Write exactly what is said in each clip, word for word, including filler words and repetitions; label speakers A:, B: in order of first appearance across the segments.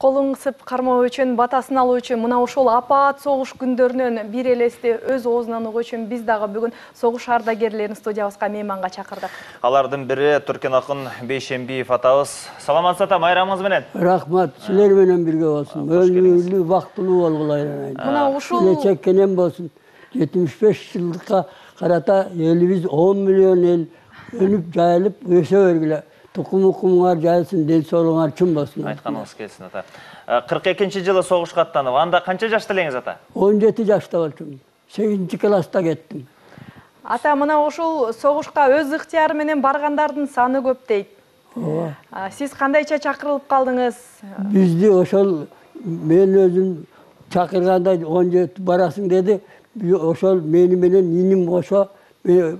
A: Колун кысып кармоо үчүн, батасын алуу үчүн мына ушул апаат согуш күндөрүнөн бир элести өз оозунан угуу үчүн биз дагы бүгүн согуш ардагерлерин студиябызга мейманга чакырдык.
B: Алардын бири Туркен акын Бейшембиев атабыз. Саламатсыз ата, майрамыңыз менен.
C: Рахмат, силер менен бирге болсун. Өлүмүлүү, бактылуу болгула айран.
A: Мына ушул
C: келечекенен болсун. жетимиш беш жылдыкка карата элибиз он миллион эл өнүп, жайылып, өсө бергиле. Тукум укумуңар жайылсын, ден соолуңар чын болсун.
B: Айтканыңыз келсин ата. кырк экинчи жылы согушка аттанып, анда канча жашта элеңиз ата?
C: он жети жашта болчумун. сегизинчи класста кеттим.
A: Ата, мына ушул согушка өз ыктыяры менен баргандардын саны көп дейт.
C: Ооба.
A: Сиз кандайча чакырылып калдыңыз?
C: Бизди ошол мен өзүм чакырганда он жети барасың деди. Ошол мени менен иним кошо бир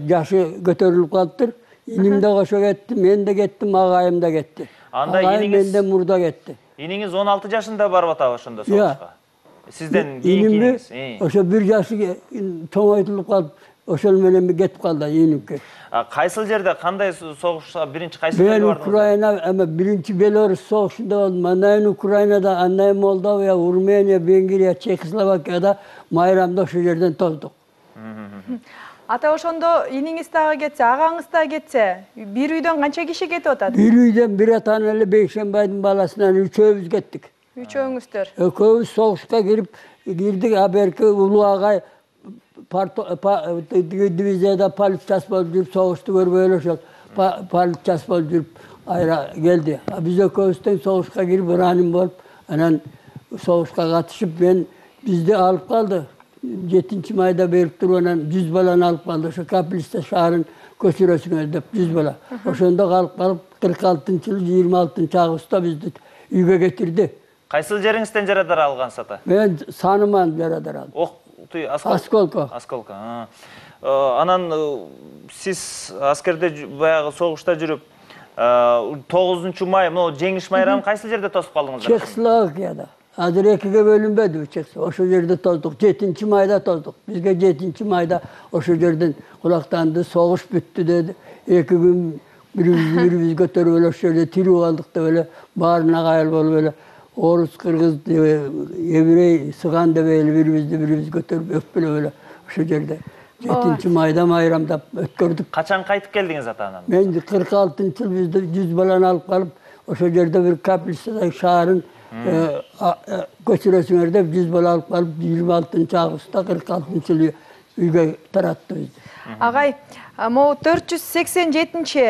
C: жашы көтөрүлүп калыптыр. Иним да кошо кетти, мен да кеттим, агайым да кетти.
B: Анда
C: агайым
B: иниңиз
C: менден мурда кетти.
B: Иниңиз он алты жашында барып атабы ошондо согушка? Сизден кийинки иниңиз?
C: Ошо бир жашы тоңойтулуп калып, ошол менен кетип калды инимке.
B: Кайсыл жерде, кандай согушка биринчи кайсы жерде
C: бардыңыз?
B: бардыңыз?
C: Мен Украина, эме биринчи Белорус согушунда болдум. Андан кийин Украинада, андан кийин Молдовия, Урмения, Венгрия, Чехословакияда майрамда ошол жерден тоздук.
A: Ата, ошондо иниңиз дагы кетсе, агаңыз да кетсе, бир үйдөн канча киши кетип атат?
C: Бир үйдөн бир атаны эле Бейшембайдын баласынан үчөөбүз кеттик.
A: Үчөөңүздөр.
C: Экөөбүз согушка кирип кирдик, а берки улуу агай дивизияда полиция болуп жүрүп, согушту көрбөй эле ошол полиция болуп жүрүп айра келди. А биз экөөбүз тең согушка кирип, ранен болуп, анан согушка катышып, мен бизди алып калды. жетинчи майда берип туруп, анан жүз баланы алып калды. Ошо Капелиста шаарын көчүрөсүңөр деп жүз бала. Ошондо калып калып, кырк алтынчы жылы жыйырма алтынчы августта бизди үйгө кетирди.
B: Кайсыл жериңизден жарадар алгансыз ата?
C: Мен Саныман жарадар алдым.
B: Ок,
C: Осколко.
B: Осколко. Анан сиз аскерде баягы согушта жүрүп, тогузунчу май, могу жеңиш майрамын кайсыл жерде тосуп калдыңыздар?
C: Чехословакияда. Азыр экиге бөлүнбөдү Чехословакия. Ошол жерде тоздук. жетинчи майда тоздук. Бизге жетинчи майда ошол жерден кулактанды, согуш бүттү деди. эки күн бирибиз көтөрүп эле ошол жерде тирүү калдык деп эле баарына кайыл болуп эле орус, кыргыз, еврей, сыган деп эле бирибизди бирибиз көтөрүп өппөлөп эле ошол жерде жетинчи майда майрамдап өткөрдүк.
B: Качан кайтып келдиңиз ата анан?
C: Мен кырк алтынчы жылы бизди жүз баланы алып калып, ошол жерде бир Капелистадагы шаарын көчүрөсүңөр деп жүз бала алып калып, жыйырма алтынчы августта кырк алтынчы жылы үйгө таратты бизди.
A: Агай, могу төрт жүз сексен жетинчи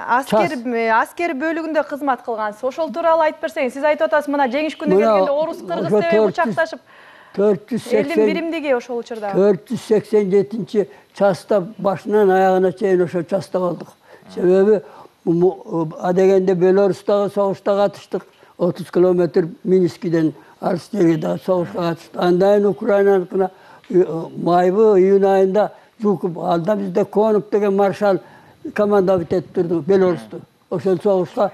A: аскер аскер бөлүгүндө кызмат кылгансыз. Ошол тууралуу айтып берсеңиз, сиз айтып атасыз, мына жеңиш күнү келгенде орус, кыргыз деп учакташып, элдин биримдиги ошол учурда.
C: төрт жүз сексен жетинчи частта башынан аягына чейин ошол частта болдук. Себеби адегенде Белорустагы согушта катыштык. отуз километр Минскиден алыс жерде согушка катышты. Андан кийин Украинаныкына майбы июнь айында Жуков, алда бизде Конуп деген маршал командовать этип турду Белорусту. Ошол согушка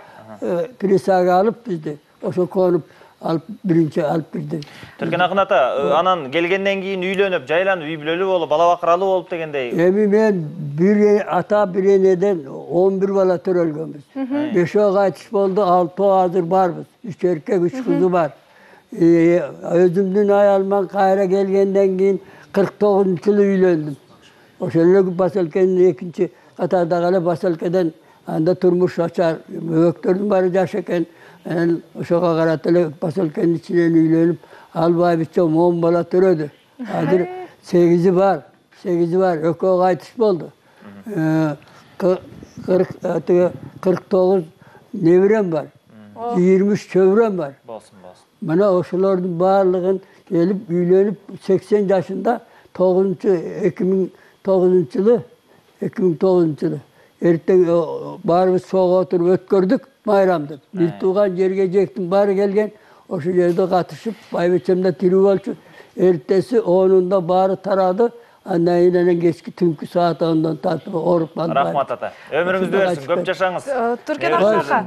C: присяга алып бизди, ошол Конуп алып биринчи алып кирди.
B: Туркен акын ата, анан келгенден кийин үйлөнүп, жайланып, үй бүлөлүү болуп, бала бакыралуу болуп дегендей.
C: Эми мен бир ата бир энеден он бир бала төрөлгөнбүз. бешөө кайтыш болду, алтоо азыр барбыз. үч эркек, үч кызы бар. Өзүмдүн аялыман кайра келгенден кийин кырк тогузунчу жылы үйлөндүм. Ошол эле поселкенин экинчи катардагы эле поселкеден анда турмуш ачар, өбөктөрдүн баары жаш экен. Анан ошого карата эле поселкенин ичинен үйлөнүп, албайбычом он бала төрөдү. Азыр сегизи бар, сегизи бар, экөө кайтыш болду. кырк тогуз неберем бар, жыйырма үч чөбүрөм бар.
B: Болсун, болсун.
C: Мына ошолордун баардыгын келип үйлөнүп сексен жашында эки миң тогузунчу жылы эки миң тогузунчу жылы эртең баарыбыз сого отуруп өткөрдүк майрамды. Бир тууган жерге жектин баары келген, ошол жерде катышып, байбичем да тирүү болчу. Эртеси онунда баары тарады. Андан кийин анан кечки түнкү саат ондон тартып ооруп калды.
B: Рахмат ата. Өмүрүңүздү берсин, көп жашаңыз.
A: Туркен ака,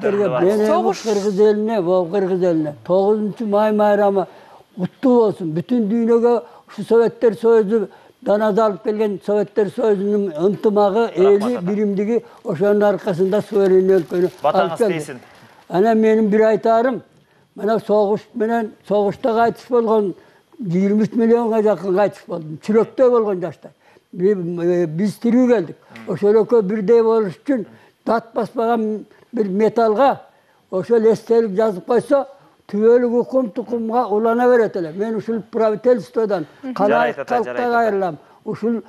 C: согуш кыргыз элине, бул кыргыз элине тогузунчу май майрамы куттуу болсун. Бүтүн дүйнөгө ушу Советтер Союзу даназа алып келген Советтер Союзунун ынтымагы, эли, биримдиги ошонун аркасында суверен өлкөнү
B: батаңыз тийсин.
C: Ana benim bir aytarım, bana soğuş menen soğuşta kaytıp bolgon yirmi üç milyonga jakın kaytıp boldum. Çüröktö bolgon jaştar. Biz tiriw geldik. Oşoloko birдей болуш үчүн tat basmagan bir metalga oşol estelik жазып койсо, tübölük hukum tukumga ulana beret ele. Men uşul правительстводан калайык калкка кайрылам. Uşul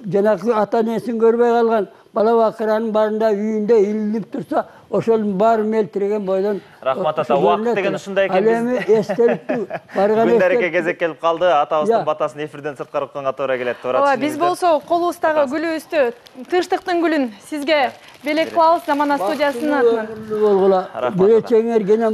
C: жанакы ата-энесин көрбөй калган бала бакыранын барында үйүндө илинип турса, ошол баарын мелтиреген бойдон.
B: Рахмат ата, убакыт деген ушундай экен.
C: Ал эми эстеликтүү барган
B: Күндөреке кезек келип калды. Атабыздын батасын эфирден сырткары укканга туура келет.
A: Ооба, биз болсо колубуздагы гүлүбүздү, тынчтыктын гүлүн сизге белек кылабыз Замана студиясынын атынан.
C: Болгула. Беречеңер гене